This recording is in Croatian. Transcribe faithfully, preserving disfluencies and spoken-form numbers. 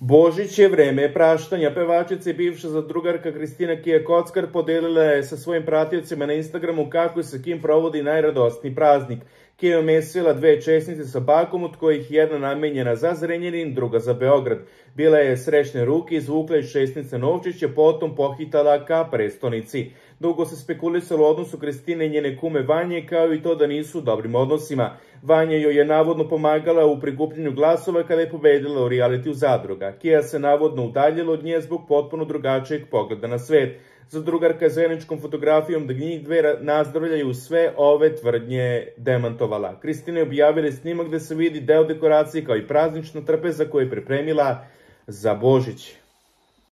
Božić je vreme praštanja. Pevačica i bivša zadrugarka Kristina Kija Kockar podelila je sa svojim pratiocima na Instagramu kako se sa kim provodi najradosniji praznik. Kija je omesila dve česnice sa bakom, od kojih jedna namenjena za Zrenjanin, druga za Beograd. Bila je srećne ruke, izvukla iz česnice novčiće, potom pohitala ka prestonici. Dugo se spekulisalo o odnosu Kristine i njene kume Vanje, kao i to da nisu u dobrim odnosima. Vanja joj je navodno pomagala u prikupljenju glasova kada je pobedila u realitiju Zadruga. Kija se navodno udaljila od nje zbog potpuno drugačijeg pogleda na svet. Zadrugarka je zajedničkom fotografijom da njih dve nazdravljaju sve ove tvrdnje demantovala. Kristina je objavila snimak gde se vidi deo dekoracije kao i praznična trpeza koju je pripremila za Božić.